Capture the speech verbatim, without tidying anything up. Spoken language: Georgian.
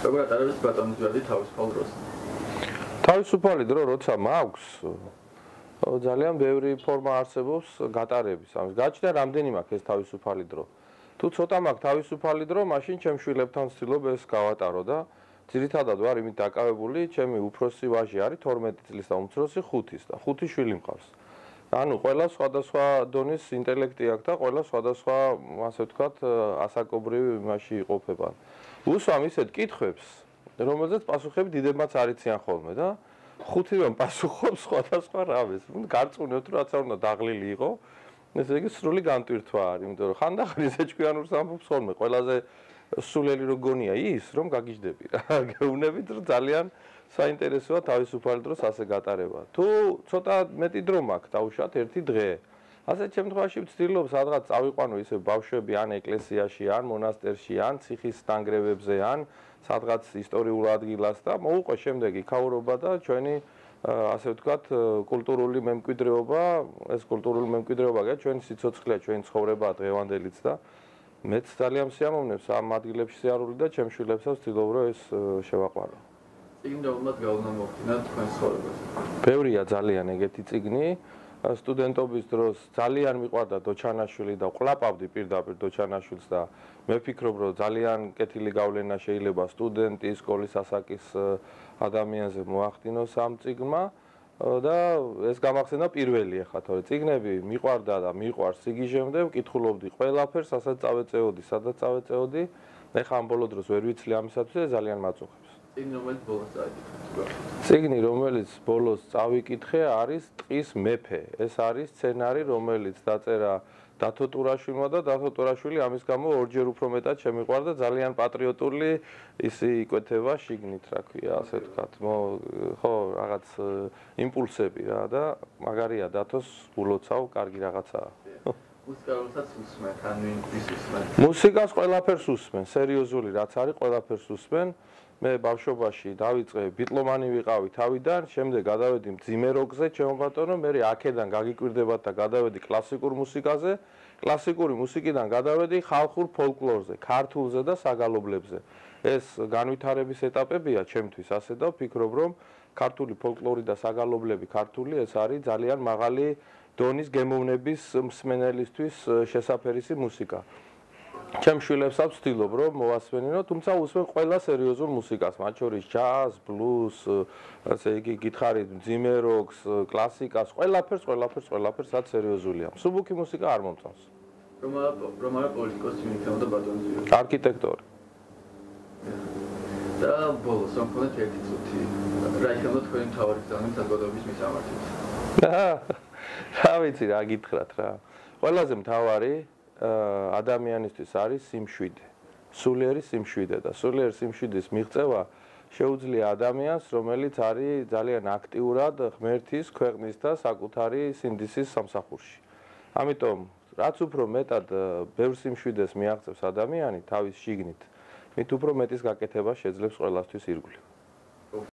როგორ ატარებს ბატონის გვერდი თავისუფალ დროს? თავისუფალი დრო როცა მაქვს, ძალიან ბევრი ფორმა არსებობს გატარების. ამის გაჩნდა რამდენი მაქვს ეს თავისუფალი დრო. თუ ცოტა მაქვს თავისუფალი დრო, მაშინ ჩემ შვილებთან ვცდილობ ეს გავატარო და ძირითადად ვარ იმით დაკავებული, ჩემი უფროსი ვაჟი არის თორმეტი წლის და უმცროსი ხუთის და ხუთი შვილი მყავს. ანუ ყველა სხვადასხვა დონის ინტელექტი აქვს და ყველა სხვადასხვა, ასე ვთქვათ, ასაკობრივი იმაში იყოფება. უსვამ ისეთ კითხვებს, რომელზეც პასუხები დიდებმაც არ იციან ხოლმე და ხუთივე პასუხობს სხვადასხვა რამეს. გარწმუნებთ, რომ რაც არ უნდა დაღლილი იყო, ესე იგი სრული განტვირთვა არის, იმიტომ რომ ხანდახან ისე ჭკვიანურს ამბობს ხოლმე, ყველაზე სულელი რო გონია ის, რომ გაგიჟდები რა. გეუბნებით, რომ ძალიან საინტერესოა თავისუფალი დროს ასე გატარება. თუ ცოტა მეტი დრო მაქვს, დავუშვათ ერთი დღე. ასეთ შემთხვევაში ვცდილობ სადღაც წავიყვანო ისე ბავშვები ან ეკლესიაში, ან მონასტერში, ან ციხის ნანგრევებზე, ან სადღაც ისტორიულ ადგილას და მოვუყვე შემდეგ იქაურობა და ჩვენი ასე ვთქვათ კულტურული მემკვიდრეობა, ეს კულტურული მემკვიდრეობა გა ჩვენი სიცოცხლეა, ჩვენი ცხოვრებაა დღევანდელიც და მეც ძალიან მსიამოვნებს ამ ადგილებში სიარული და ჩემ შვილებსაც ვცდილობ რომ ეს შევაყვარო. წიგნი რომელმაც გავლენა მოხდინა თქვენ ცხოვრებაზე? ბევრია ძალიან ეგეთი წიგნი. სტუდენტობის დროს ძალიან მიყვარდა დოჩანაშვილი და ვყლაპავდი პირდაპირ დოჩანაშვილს და მე ვფიქრობ რომ ძალიან კეთილი გავლენა შეიძლება სტუდენტის, სკოლის ასაკის ადამიანზე მოახდინოს ამ წიგნმა და ეს გამახსენდა პირველი ახლა თორე წიგნები მიყვარდა და მიყვარს სიგიჟემდე ვკითხულობდი ყველაფერს, ასაც წავეწეოდი, სადაც წავეწეოდი. ეხლა ამ ბოლო დროს ვერ ვიცლი ამისათვის ძალიან მაწუხებს. წიგნი რომელიც ბოლოს წავიკითხე. წიგნი რომელიც ბოლოს წავიკითხე არის ტყის მეფე. ეს არის სცენარი რომელიც დაწერა დათო ტურაშვილმა და დათო ტურაშვილი ამის გამო ორჯერ უფრო მეტად შემიყვარდა ძალიან პატრიოტული ისი იკვეთება შიგნით რა ქვია ასე ვთქვათ. ხო რაღაც იმპულსები რა და მაგარია დათოს ულოცავ კარგი რაღაცაა. მუსიკალსაც უსმენ, ან ვინ ის უსმენ? მუსიკას ყველაფერს უსმენ, სერიოზული რაც არის ყველაფერს უსმენ. მე ბავშვობაში დავიწყე ბიტლომანი ვიყავი თავიდან, შემდეგ გადავედი მძიმე როკზე, ჩემო ბატონო, მე აქედან გაგიკვირდებათ და გადავედი კლასიკურ მუსიკაზე, კლასიკური მუსიკიდან გადავედი ხალხურ ფოლკლორზე, ქართულზე და საგალობლებზე. ეს განვითარების ეტაპებია ჩემთვის ასე და ვფიქრობ, რომ ქართული ფოლკლორი და საგალობლები ქართული ეს არის ძალიან მაღალი დონის გემოვნების მსმენელისთვის შესაფერისი მუსიკა. ჩემ შვილებსაც ვცდილობ რომ მოვასვენინო, თუმცა უსმენ ყველა სერიოზულ მუსიკას, მათ შორის ჯაზ, ბლუს, ასე იგი გითხარით, მძიმე როკს, კლასიკას, ყველაფერს, ყველაფერს, ყველაფერს რაც სერიოზულია. მსუბუქი მუსიკა არ მომწონს. რომ რომ არა პოლიტიკოსი მიიქნებოდა ბატონის გვერდი? არქიტექტორი. და ბოლოს რომ ხონდეთ ერთი წუთი, რა იქნება თქვენი მთავარი გზანი საზოგადოების მისამართით? რა ვიცი რა გითხრათ რა. ყველაზე მთავარი ადამიანისთვის არის სიმშვიდე. სულიერი სიმშვიდე და სულიერ სიმშვიდის მიღწევა შეუძლია ადამიანს, რომელიც არის ძალიან აქტიურად ღმერთის, ქვეყნის და საკუთარი სინდისის სამსახურში. ამიტომ რაც უფრო მეტად ბევრ სიმშვიდეს მიაღწევს ადამიანი თავის შიგნით, მით უფრო მეტის გაკეთება შეძლებს ყველასთვის ირგვლივ.